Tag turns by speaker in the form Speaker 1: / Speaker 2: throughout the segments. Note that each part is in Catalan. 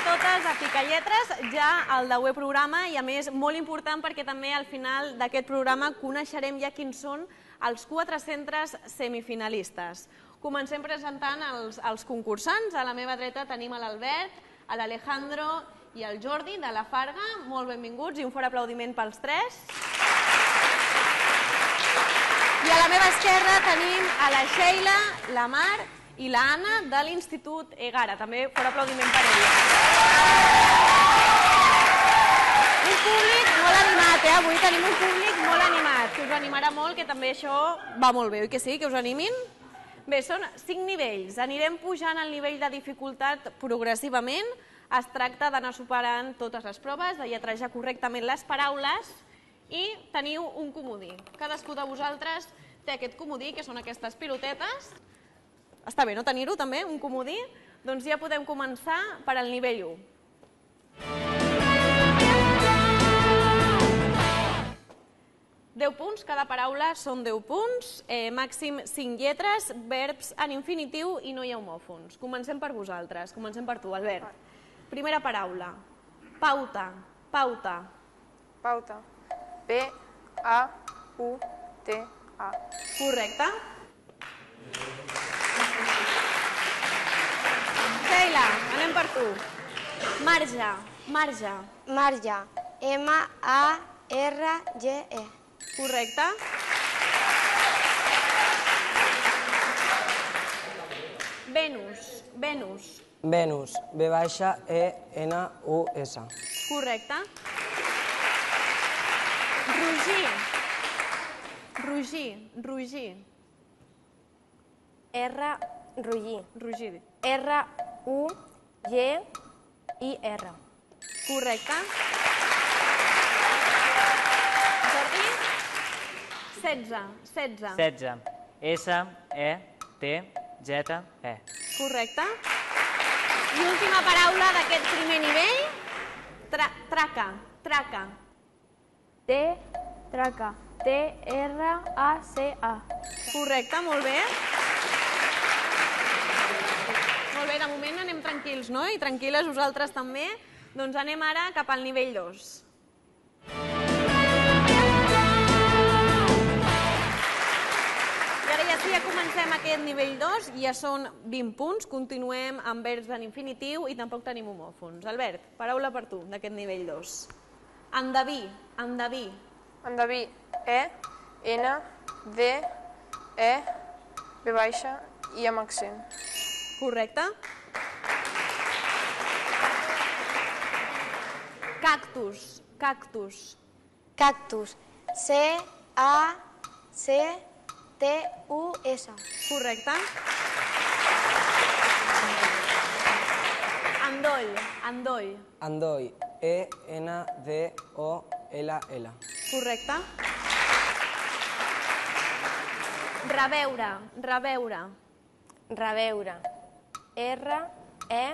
Speaker 1: a totes a Picalletres, ja el 10è programa, i a més molt important perquè també al final d'aquest programa coneixerem ja quins són els 4 centres semifinalistes. Comencem presentant els concursants. A la meva dreta tenim l'Albert, l'Alejandro i el Jordi de la Farga. Molt benvinguts i un fort aplaudiment pels 3. I a la meva esquerra tenim la Sheila, la Mar i l'Anna de l'Institut Egara. També fort aplaudiment per ella. Un públic molt animat, avui tenim un públic molt animat, que us animarà molt, que també això va molt bé, oi que sí? Que us animin? Bé, són 5 nivells. Anirem pujant el nivell de dificultat progressivament. Es tracta d'anar superant totes les proves, de lletrejar correctament les paraules i teniu un comodí. Cadascú de vosaltres té aquest comodí, que són aquestes pilotetes. Està bé, no tenir-ho també, un comodí? Doncs ja podem començar per al nivell 1. Punts, cada paraula són 10 punts, màxim 5 lletres, verbs en infinitiu i no hi ha homòfons. Comencem per vosaltres, comencem per tu, Albert. Primera paraula, pauta, pauta.
Speaker 2: Pauta. P-A-U-T-A.
Speaker 1: Correcte. Sheila, anem per tu. Marge, marge.
Speaker 3: Marge. M-A-R-G-E.
Speaker 1: Correcte. Venus, Venus.
Speaker 4: Venus. V-E-N-U-S.
Speaker 1: Correcte. Rugir. Rugir, rugir.
Speaker 3: Rugir.
Speaker 1: Rugir.
Speaker 3: R-U-G-I-R.
Speaker 1: Correcte. Jordi? 16. 16.
Speaker 5: 16. S-E-T-Z-E.
Speaker 1: Correcte. I última paraula d'aquest primer nivell. Traca. Traca.
Speaker 3: Traca. T-R-A-C-A.
Speaker 1: Correcte, molt bé. Molt bé, de moment anem tranquils, no? I tranquil·les vosaltres també. Doncs anem ara cap al nivell 2. I ara ja sí, ja comencem aquest nivell 2. Ja són 20 punts. Continuem amb verbs en infinitiu i tampoc tenim homòfons. Albert, paraula per tu d'aquest nivell 2. Endeví, endeví.
Speaker 2: Endeví. E-N-D-E V-baixa i amb accent.
Speaker 1: Correcte. Cactus, cactus.
Speaker 3: Cactus. C-A-C-T-U-S.
Speaker 1: Correcte. Endoll, endoll.
Speaker 4: Endoll. E-N-D-O-L-L.
Speaker 1: Correcte. Reveure, reveure.
Speaker 3: Reveure. R-E-V-E-U-R-E.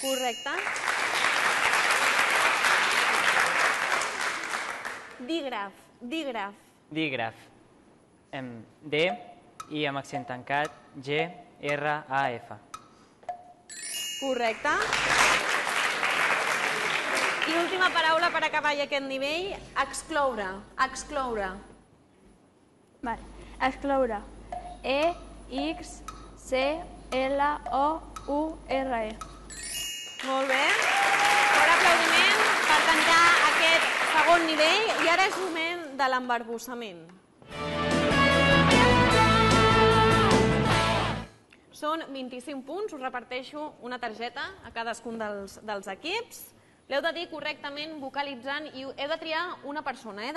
Speaker 1: Correcte. Dígraf, dígraf.
Speaker 5: Dígraf. D i amb accent tancat G-R-A-F.
Speaker 1: Correcte. I última paraula per acabar aquest nivell, excloure, excloure.
Speaker 3: Vale. Excloure. E-X-C-L-O-U-R-E.
Speaker 1: Molt bé. Fort aplaudiment per tancar aquest segon nivell. I ara és moment de l'embarbussament. Són 25 punts, us reparteixo una targeta a cadascun dels equips. L'heu de dir correctament vocalitzant i heu de triar una persona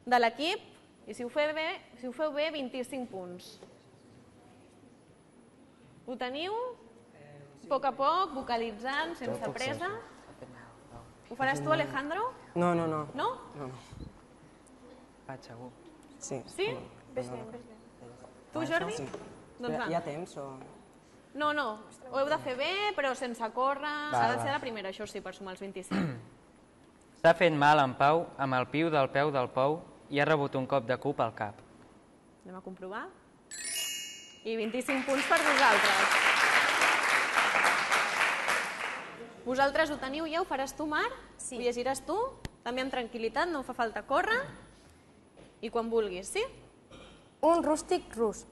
Speaker 1: de l'equip i si ho feu bé, 25 punts. Ho teniu? A poc, vocalitzant, sense pressa. Ho faràs tu, Alejandro?
Speaker 4: No.
Speaker 1: No?
Speaker 4: No.
Speaker 5: Vaig, segur.
Speaker 4: Sí.
Speaker 1: Sí?
Speaker 3: Ves bé.
Speaker 1: Tu, Jordi?
Speaker 4: Sí.
Speaker 1: Doncs va.
Speaker 4: Hi ha temps o...?
Speaker 1: No, ho heu de fer bé, però sense córrer. Ha de ser la primera, això sí, per sumar els 25.
Speaker 5: S'ha fet mal en Pau amb el piu del peu del pou i ha rebut un cop de cub al cap.
Speaker 1: Anem a comprovar. I 25 punts per vosaltres. Vosaltres ho teniu ja? Ho faràs tu, Mar?
Speaker 3: Sí.
Speaker 1: Ho llegiràs tu? També amb tranquil·litat, no fa falta córrer. I quan vulguis, sí?
Speaker 3: Un rústic rus.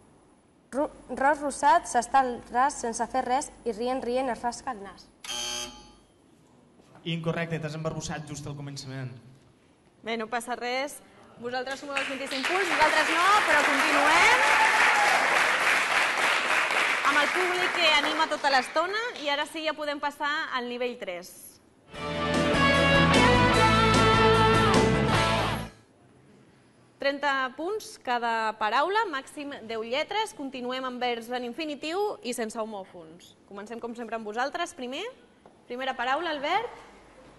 Speaker 3: Ros rosat s'està al ras sense fer res i rient es rasca el nas.
Speaker 6: Incorrecte, t'has embarbussat just al començament.
Speaker 1: Bé, no passa res. Vosaltres sumeu els 25 punts, vosaltres no, però continuem. Amb el públic que anima tota l'estona i ara sí ja podem passar al nivell 3. punts cada paraula, màxim 10 lletres. Continuem amb verbs en infinitiu i sense homòfons. Comencem com sempre amb vosaltres. Primera paraula, el verb.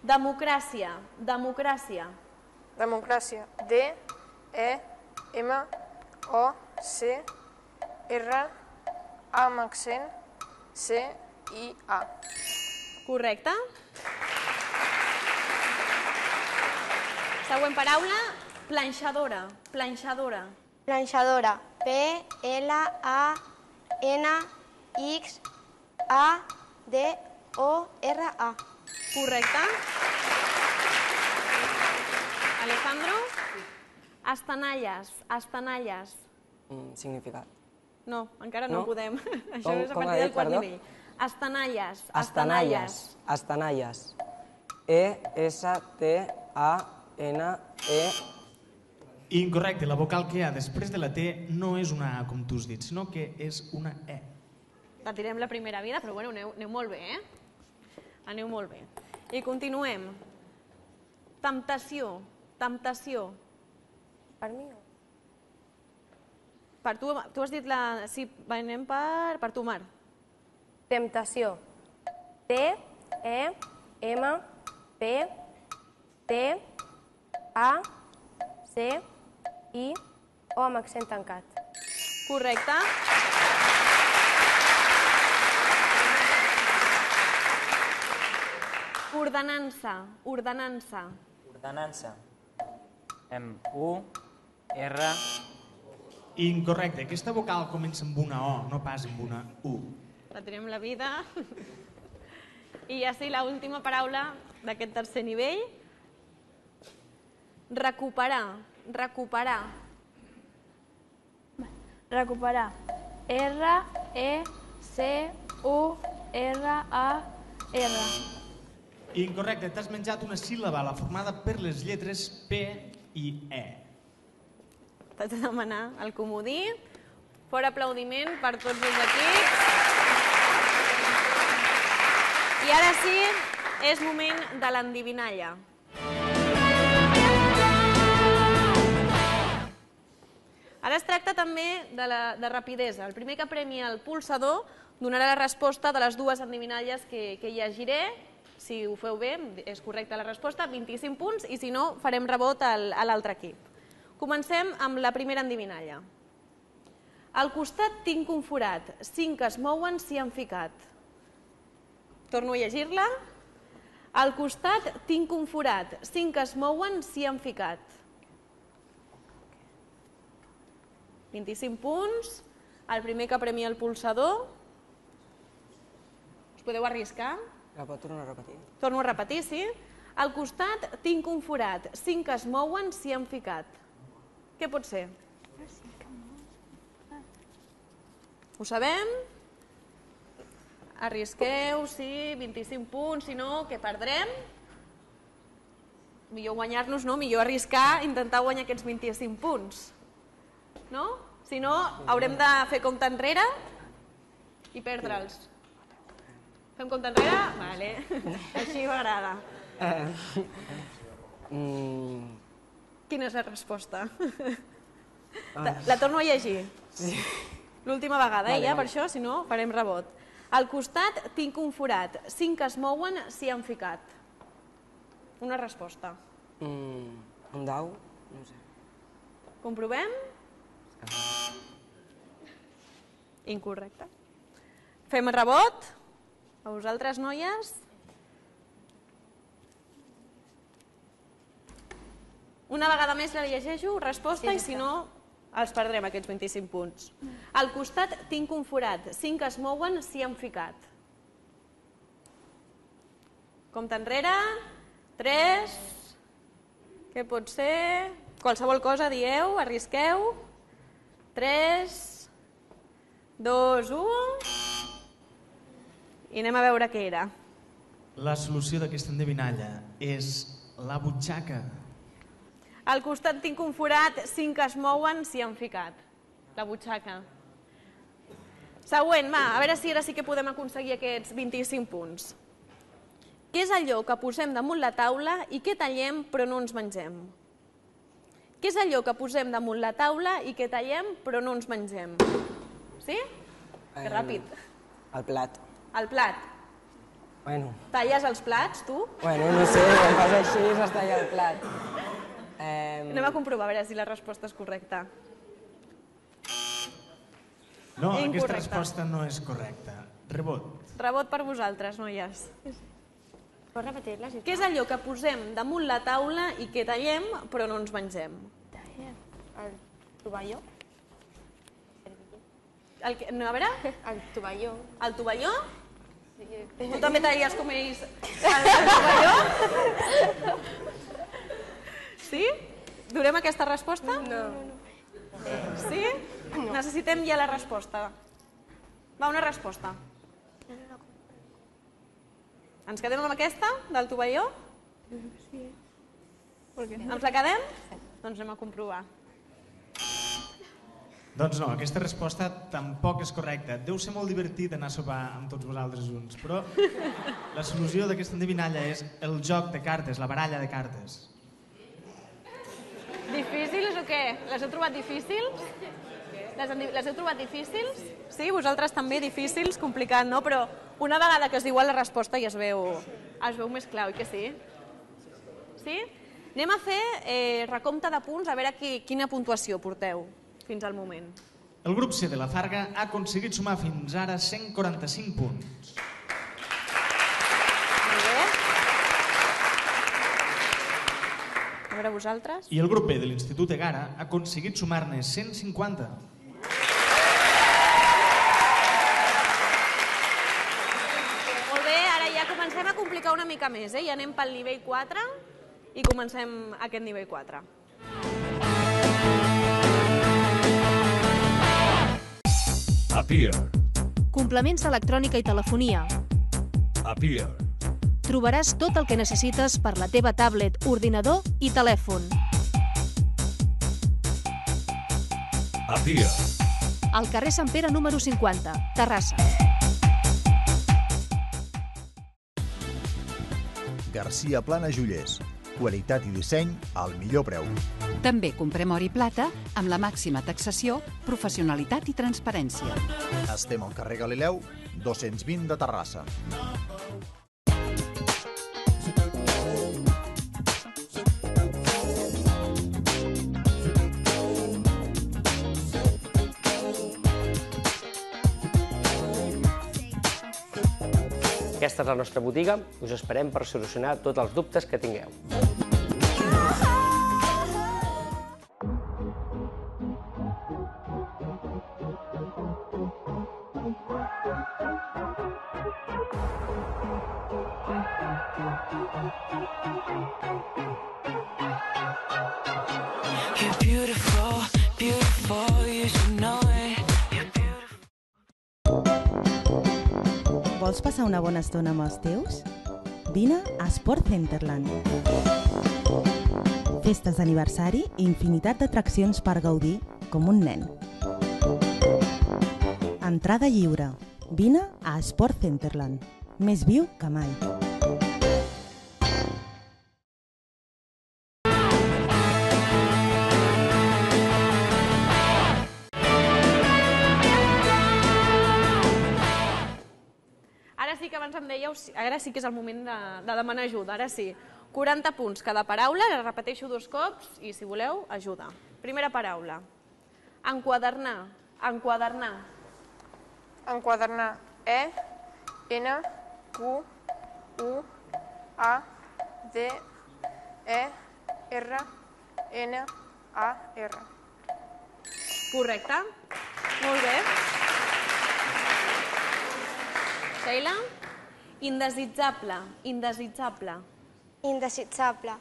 Speaker 1: Democràcia. Democràcia.
Speaker 2: Democràcia. D-E-M-O-C-R-A amb accent C-I-A.
Speaker 1: Correcte. Següent paraula, planxadora. Planxadora.
Speaker 3: Planxadora. P-L-A-N-X-A-D-O-R-A.
Speaker 1: Correcte. Alejandro. Estanalles. Estanalles.
Speaker 4: Significat.
Speaker 1: No, encara no
Speaker 4: No?
Speaker 1: podem. Això
Speaker 4: Com-
Speaker 1: és a
Speaker 4: com ha
Speaker 1: partir del
Speaker 4: dit,
Speaker 1: quart
Speaker 4: perdó?
Speaker 1: nivell. Estanalles.
Speaker 4: Estanalles. Estanalles. E-S-T-A-N-E.
Speaker 6: Incorrecte, la vocal que hi ha després de la T no és una A, com tu has dit, sinó que és una E.
Speaker 1: Patirem la primera vida, però bueno, aneu molt bé, eh? Aneu molt bé. I continuem. Temptació. Temptació.
Speaker 3: Per mi no.
Speaker 1: Per tu has dit la... Sí, anem per tu, Mar.
Speaker 3: Temptació. T-E-M-P-T-A-C-I-O amb accent tancat.
Speaker 1: Correcte. Ordenança. Ordenança.
Speaker 5: Ordenança. Amb U, R,
Speaker 6: Incorrecte, aquesta vocal comença amb una O, no pas amb una U.
Speaker 1: Patirem la vida. I ja sí, l'última paraula d'aquest tercer nivell. Recuperar. Recuperar.
Speaker 3: Recuperar. R-E-C-U-R-A-R.
Speaker 6: Incorrecte, t'has menjat una síl·laba, la formada per les lletres P i E.
Speaker 1: T'haig de demanar el comodí. Fort aplaudiment per tots els equips. I ara sí, és moment de l'endivinalla. Ara es tracta també de rapidesa. El primer que premi el pulsador donarà la resposta de les dues endivinalles que llegiré. Si ho feu bé, és correcta la resposta, 25 punts, i si no, farem rebot a l'altre equip. Comencem amb la primera endivinalla. Al costat tinc un forat, 5 que es mouen s'hi han ficat. Torno a llegir-la. Al costat tinc un forat, 5 que es mouen s'hi han ficat. 25 punts. El primer que premia el pulsador. Us podeu arriscar?
Speaker 4: La pot tornar a repetir?
Speaker 1: Torno a repetir, sí? Al costat tinc un forat, 5 que es mouen s'hi han ficat. Què pot ser? Ho sabem? Arrisqueu, sí, 25 punts, si no, què perdrem? Millor guanyar-nos, no? Millor arriscar, intentar guanyar aquests 25 punts. No? Si no, haurem de fer compte enrere i perdre'ls. Fem compte enrere? Vale. Així m'agrada. Quina és la resposta? La torno a llegir.
Speaker 4: Sí.
Speaker 1: L'última vegada, ja, per això, si no, farem rebot. Al costat tinc un forat, 5 que es mouen s'hi han ficat. Una resposta.
Speaker 4: Un dau? No sé.
Speaker 1: Comprovem? Incorrecte. Fem rebot? A vosaltres, noies? Una vegada més la llegeixo, resposta, i si no, Els perdrem, aquests 25 punts. Al costat tinc un forat. 5 es mouen, s'hi han ficat. Compte enrere. 3. Què pot ser? Qualsevol cosa, dieu, arrisqueu. 3, 2, 1... I anem a veure què era.
Speaker 6: La solució d'aquesta endevinalla és la butxaca.
Speaker 1: Al costat tinc un forat, 5 es mouen, s'hi han ficat. La butxaca. Següent, va, a veure si ara sí que podem aconseguir aquests 25 punts. Què és allò que posem damunt la taula i que tallem però no ens mengem? Què és allò que posem damunt la taula i que tallem però no ens mengem? Sí? Que ràpid.
Speaker 4: El plat.
Speaker 1: El plat.
Speaker 4: Bueno,
Speaker 1: Talles els plats, tu?
Speaker 4: no sé, quan fas així es talla el plat.
Speaker 1: Anem a comprovar a veure si la resposta és correcta.
Speaker 6: No, aquesta
Speaker 1: Incorrecte.
Speaker 6: resposta no és correcta. Rebot.
Speaker 1: Rebot per vosaltres, noies.
Speaker 3: Pots repetir-la, sisplau?
Speaker 1: Què és allò que posem damunt la taula i que tallem però no ens mengem?
Speaker 3: El tovalló.
Speaker 1: No, a veure,
Speaker 3: El tovalló.
Speaker 1: el tovalló? Tu també talles com ells el tovalló? Sí? Durem aquesta resposta?
Speaker 3: No.
Speaker 1: Sí? Necessitem ja la resposta. Va, una resposta. Ens quedem amb aquesta, del tovalló? Sí. Ens la quedem? Doncs anem a comprovar.
Speaker 6: Doncs no, aquesta resposta tampoc és correcta. Deu ser molt divertit anar a sopar amb tots vosaltres junts, però la solució d'aquesta endevinalla és el joc de cartes, la baralla de cartes.
Speaker 1: Difícils o què? Les heu trobat difícils? Les heu trobat difícils? Sí, vosaltres també difícils, complicat, no? Però una vegada que es diu la resposta ja es veu més clar, oi que sí? Sí? Anem a fer recompte de punts, a veure quina puntuació porteu fins al moment.
Speaker 6: El grup C de la Farga ha aconseguit sumar fins ara 145 punts.
Speaker 1: Molt bé. A veure vosaltres.
Speaker 6: I el grup B de l'Institut Egara ha aconseguit sumar-ne 150.
Speaker 1: Molt bé, ara ja comencem a complicar una mica més, ja anem pel nivell 4 i comencem aquest nivell 4.
Speaker 7: Appear.
Speaker 8: Complements d'electrònica i telefonia.
Speaker 7: Appear.
Speaker 8: Trobaràs tot el que necessites per la teva tablet, ordinador i telèfon.
Speaker 7: Appear.
Speaker 8: Al carrer Sant Pere número 50, Terrassa.
Speaker 9: Garcia Plana Joiers. Qualitat i disseny al millor preu.
Speaker 10: També comprem or i plata amb la màxima taxació, professionalitat i transparència.
Speaker 9: Estem al carrer Galileu, 220 de Terrassa.
Speaker 11: Aquesta és la nostra botiga. Us esperem per solucionar tots els dubtes que tingueu.
Speaker 12: You're beautiful, beautiful, you should know it.
Speaker 13: Vols passar una bona estona amb els teus? Vine a Sport Centerland. Festes d'aniversari i infinitat d'atraccions per gaudir com un nen. Entrada lliure. Vine a Sport Centerland. Més viu que mai.
Speaker 1: Ara sí que abans em dèieu, ara sí que és el moment de demanar ajuda, ara sí. 40 punts cada paraula, la repeteixo 2 cops i si voleu, ajuda. Primera paraula. Enquadernar, enquadernar.
Speaker 2: Enquadernar. E, N, Q, U, A, D, E, R, N, A, R.
Speaker 1: Correcte. Molt bé. Sheila? Indesitjable. Indesitjable.
Speaker 3: Indesitjable.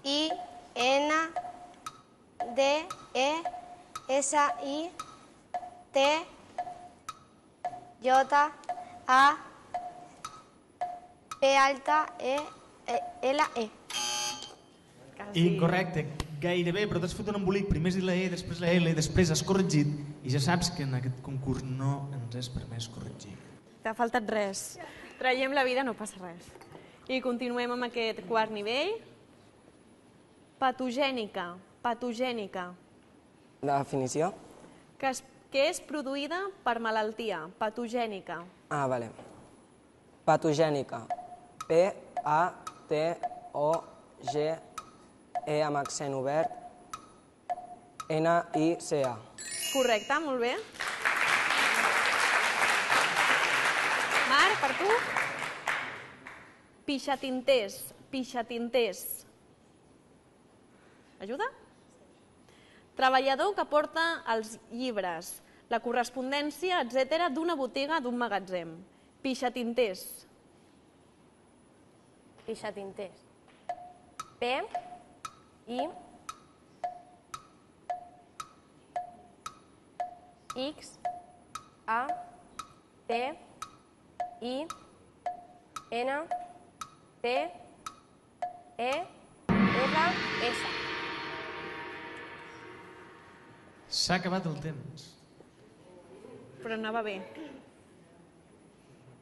Speaker 3: I-N-D-E-S-I-T-J-A-P-E-L-E.
Speaker 6: Incorrecte, gairebé, però t'has fet un embolic. Primer has dit la E, després la L, després has corregit. I ja saps que en aquest concurs no ens és permès corregir.
Speaker 1: T'ha faltat res. Traiem la vida, no passa res. I continuem amb aquest quart nivell. Patogènica. Patogènica.
Speaker 4: La definició?
Speaker 1: Que és produïda per malaltia. Patogènica.
Speaker 4: Ah, vale. Patogènica. P-A-T-O-G-E amb accent obert. N-I-C-A.
Speaker 1: Correcte, molt bé. Marc, per tu? Pixatinters. Pixatinters. Ajuda? Treballador que porta els llibres, la correspondència, etc. d'una botiga, d'un magatzem. Pixatinters.
Speaker 3: Pixatinters. P, I, X, A, T, I, N, T, E, R, S.
Speaker 6: S'ha acabat el temps.
Speaker 1: Però anava bé.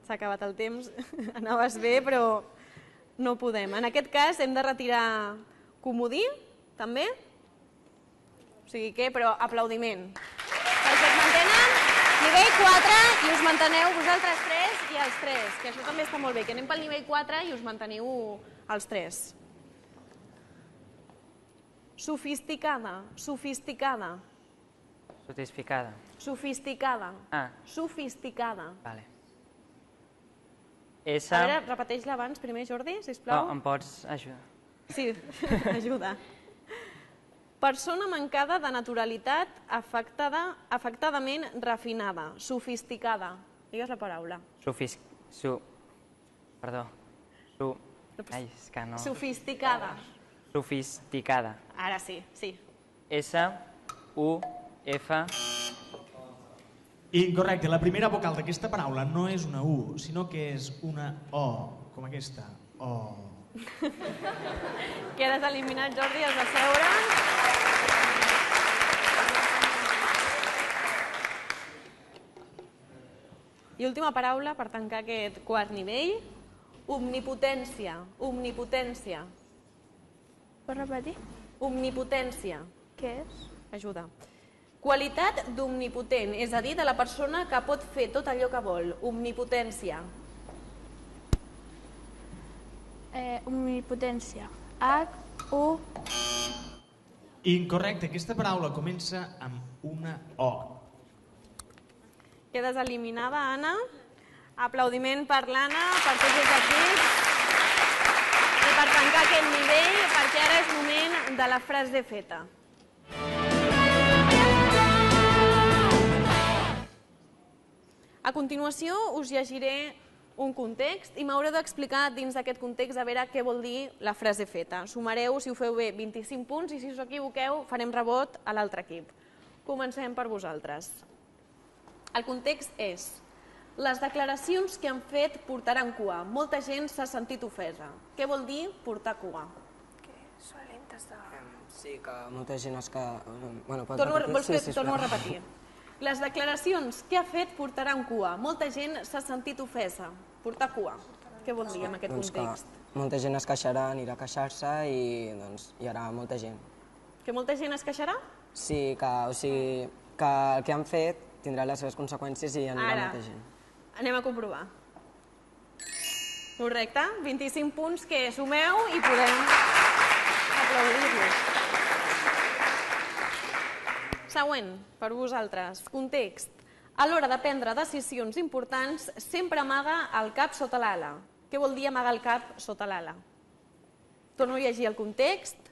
Speaker 1: S'ha acabat el temps, anaves bé, però no podem. En aquest cas hem de retirar comodí, també. O sigui que, però aplaudiment. Perquè es mantenen nivell 4 i us manteneu vosaltres 3 i els 3, que això també està molt bé, que anem pel nivell 4 i us manteniu els 3. Sofisticada, sofisticada.
Speaker 5: Sofisticada.
Speaker 1: Sofisticada.
Speaker 5: Ah.
Speaker 1: Sofisticada.
Speaker 5: Vale.
Speaker 1: A veure, repeteix-la abans primer, Jordi, sisplau.
Speaker 5: No, em pots ajudar?
Speaker 1: Sí, ajuda. Persona mancada de naturalitat, afectadament refinada, sofisticada. Digues la paraula.
Speaker 5: Perdó. Ai, és que no...
Speaker 1: Sofisticada.
Speaker 5: Sofisticada.
Speaker 1: Ara sí, sí.
Speaker 5: S-U-F...
Speaker 6: Incorrecte, la primera vocal d'aquesta paraula no és una U, sinó que és una O, com aquesta. O.
Speaker 1: Quedes eliminat, Jordi, has de seure. I última paraula per tancar aquest quart nivell. Omnipotència. Omnipotència.
Speaker 2: Pots repetir?
Speaker 1: Omnipotència.
Speaker 2: Què és?
Speaker 1: Ajuda. Qualitat d'omnipotent, és a dir, de la persona que pot fer tot allò que vol. Omnipotència.
Speaker 2: Omnipotència. H-U...
Speaker 6: Incorrecte, aquesta paraula comença amb una O.
Speaker 1: Quedes eliminada, Anna. Aplaudiment per l'Anna, per tots els equips. I per tancar aquest nivell, perquè ara és moment de la frase feta. A continuació us llegiré un context i m'haureu d'explicar dins d'aquest context a veure què vol dir la frase feta. Sumareu, si ho feu bé, 25 punts i si us equivoqueu farem rebot a l'altre equip. Comencem per vosaltres. El context és: les declaracions que han fet portaran cua. Molta gent s'ha sentit ofesa. Què vol dir portar cua?
Speaker 4: Sí, que molta gent es que...
Speaker 1: Torno a repetir. Les declaracions que ha fet portaran cua. Molta gent s'ha sentit ofesa. Portar cua. Què vol dir en aquest context?
Speaker 4: Molta gent es queixarà, anirà a queixar-se i hi haurà molta gent.
Speaker 1: Que molta gent es queixarà?
Speaker 4: Sí, que el que han fet tindrà les seves conseqüències i anirà molta gent.
Speaker 1: Anem a comprovar. Correcte, 25 punts que sumeu i podem aplaudir-los. Següent, per vosaltres, context. A l'hora de prendre decisions importants, sempre amaga el cap sota l'ala. Què vol dir amagar el cap sota l'ala? Torno a llegir el context.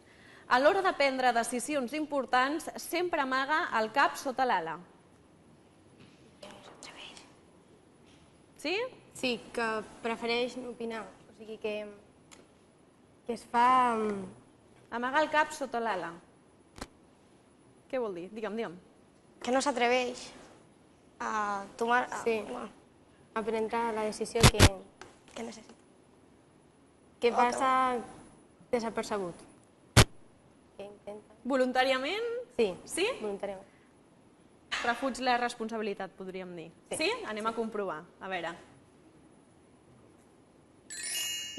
Speaker 1: A l'hora de prendre decisions importants, sempre amaga el cap sota l'ala. Sí?
Speaker 3: Sí, que prefereix no opinar. O sigui que es fa...
Speaker 1: Amaga el cap sota l'ala. Què vol dir? Digue'm.
Speaker 14: Que no s'atreveix a tomar...
Speaker 3: Sí, a prendre la decisió
Speaker 14: que necessita.
Speaker 3: Que passa desapercebut.
Speaker 1: Voluntàriament?
Speaker 3: Sí.
Speaker 1: Sí?
Speaker 3: Voluntàriament.
Speaker 1: Refuig la responsabilitat, podríem dir. Sí? Anem a comprovar. A veure.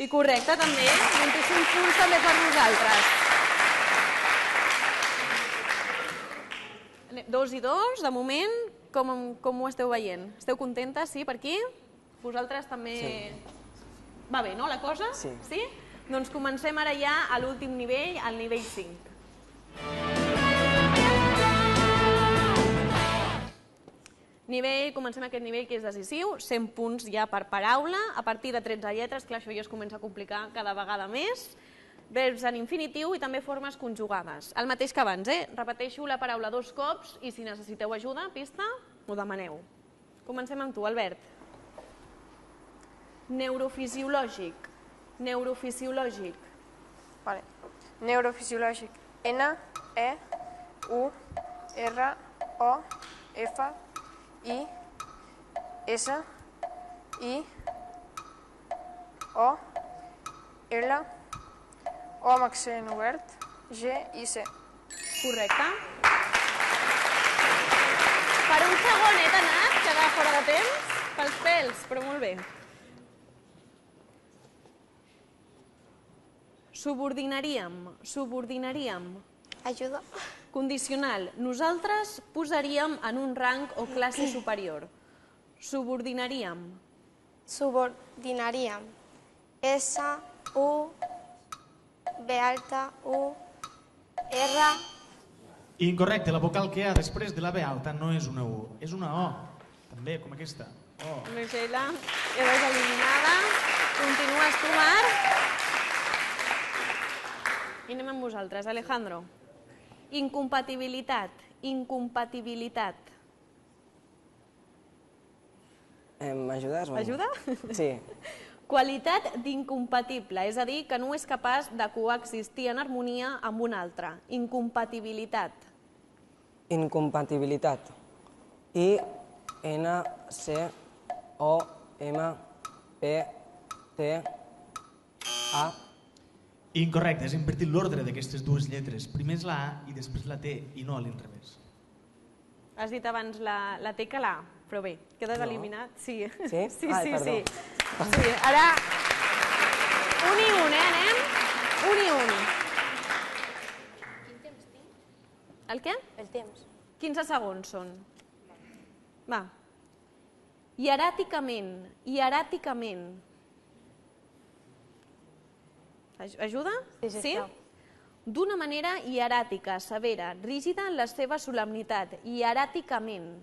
Speaker 1: I correcte, també. 25 punts també per nosaltres. 2 i 2, de moment, com ho esteu veient? Esteu contentes, sí, per aquí? Vosaltres també... Sí. Va bé, no, la cosa?
Speaker 4: Sí.
Speaker 1: Sí? Doncs comencem ara ja a l'últim nivell, al nivell 5. Comencem aquest nivell que és decisiu, 100 punts ja per paraula, a partir de 13 lletres, clar, això ja es comença a complicar cada vegada més, verbs en infinitiu i també formes conjugades. El mateix que abans, repeteixo la paraula 2 cops i si necessiteu ajuda, pista, ho demaneu. Comencem amb tu, Albert. Neurofisiològic. Neurofisiològic.
Speaker 15: Vale. Neurofisiològic. N, E, U, R, O, F, I, S, I, O, L, O amb accent obert, G i C.
Speaker 1: Correcte. Per un segon t'ha anat quedar fora de temps, pels pèls, però molt bé. Subordinaríem.
Speaker 14: Ajuda.
Speaker 1: Condicional. Nosaltres posaríem en un rang o classe superior. Subordinaríem.
Speaker 14: Subordinaríem. S, U, B alta, U, R.
Speaker 6: Incorrecte, la vocal que hi ha després de la B alta no és una U, és una O. També, com aquesta. O.
Speaker 1: Michela, quedes eliminada. Continues tu, Marc. I anem amb vosaltres. Alejandro. Incompatibilitat.
Speaker 4: M'ajudes?
Speaker 1: Ajuda?
Speaker 4: Sí.
Speaker 1: Qualitat d'incompatible, és a dir, que no és capaç de coexistir en harmonia amb un altre. Incompatibilitat.
Speaker 4: Incompatibilitat. I-N-C-O-M-P-T-A.
Speaker 6: Incorrecte, has invertit l'ordre d'aquestes dues lletres. Primer és la A i després la T, i no a l'inrevés.
Speaker 1: Has dit abans la T que la A, però bé, quedes eliminat. Sí.
Speaker 4: Sí?
Speaker 1: Sí.
Speaker 4: Ara...
Speaker 1: Un i un, anem? Un i un.
Speaker 3: Quin temps tinc?
Speaker 1: El què?
Speaker 3: El temps.
Speaker 1: 15 segons són. Va. Hieràticament. Ajuda?
Speaker 3: Sí, sisplau.
Speaker 1: D'una manera hieràtica, severa, rígida en la seva solemnitat. Hieràticament.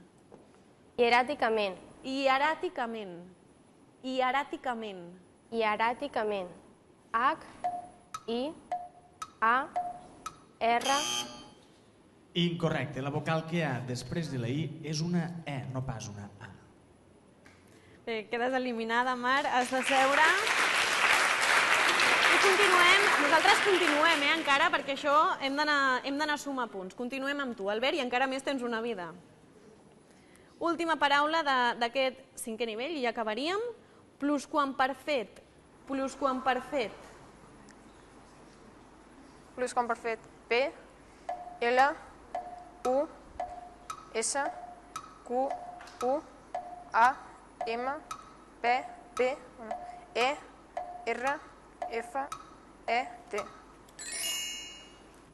Speaker 3: H, I, A, R.
Speaker 6: Incorrecte, la vocal que hi ha després de la I és una E, no pas una A.
Speaker 1: Bé, quedes eliminada, Mar, has de seure. I continuem, nosaltres continuem encara, perquè això hem d'anar a sumar punts. Continuem amb tu, Albert, i encara més tens una vida. Última paraula d'aquest 5è nivell, i ja acabaríem. Plusquamperfet. Plusquamperfet.
Speaker 15: Plusquamperfet. P, L, U, S, Q, U, A, M, P, E, R, F, E, T.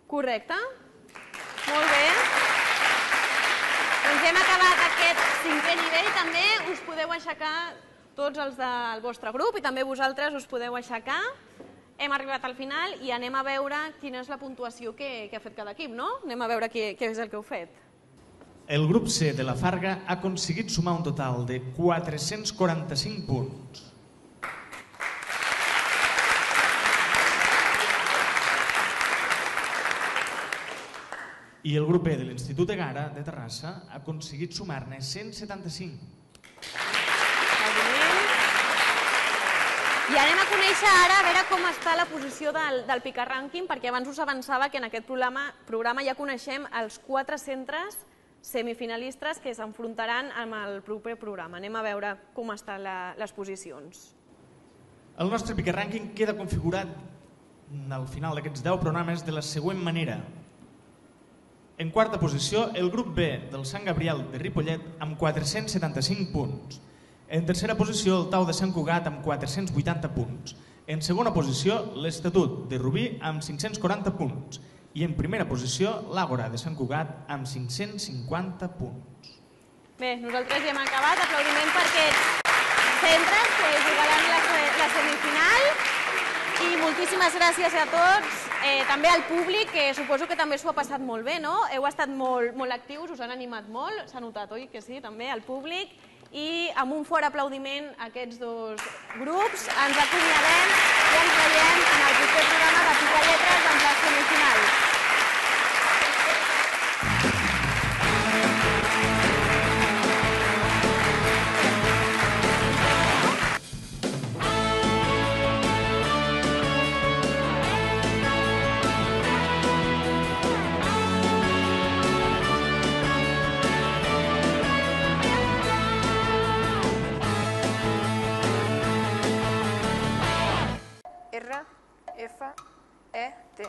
Speaker 1: Correcte? Molt bé. Doncs hem acabat aquest 5è nivell. També us podeu aixecar tots els del vostre grup i també vosaltres us podeu aixecar. Hem arribat al final i anem a veure quina és la puntuació que ha fet cada equip, no? Anem a veure què és el que heu fet.
Speaker 6: El grup C de la Farga ha aconseguit sumar un total de 445 punts. I el grup B de l'Institut Egara de Terrassa ha aconseguit sumar-ne 175.
Speaker 1: I anem a conèixer ara a veure com està la posició del Pica Rànquing, perquè abans us avançava que en aquest programa ja coneixem els 4 centres semifinalistes que s'enfrontaran amb el proper programa. Anem a veure com estan les posicions.
Speaker 6: El nostre Pica Rànquing queda configurat al final d'aquests 10 programes de la següent manera. En quarta posició, el grup B del Sant Gabriel de Ripollet amb 475 punts. En tercera posició, el Tau de Sant Cugat amb 480 punts. En segona posició, l'Estatut de Rubí amb 540 punts. I en primera posició, l'Àgora de Sant Cugat amb 550 punts.
Speaker 1: Bé, nosaltres ja hem acabat. Aplaudiment per aquests centres que jugaran la semifinal. I moltíssimes gràcies a tots, també al públic, que suposo que també s'ho ha passat molt bé, no? Heu estat molt actius, us han animat molt, s'ha notat, oi que sí, també, al públic. I amb un fort aplaudiment a aquests dos grups ens acomiadem i ens veiem en el proper programa de Pica Lletres amb les semifinals.
Speaker 15: R, F, E, T.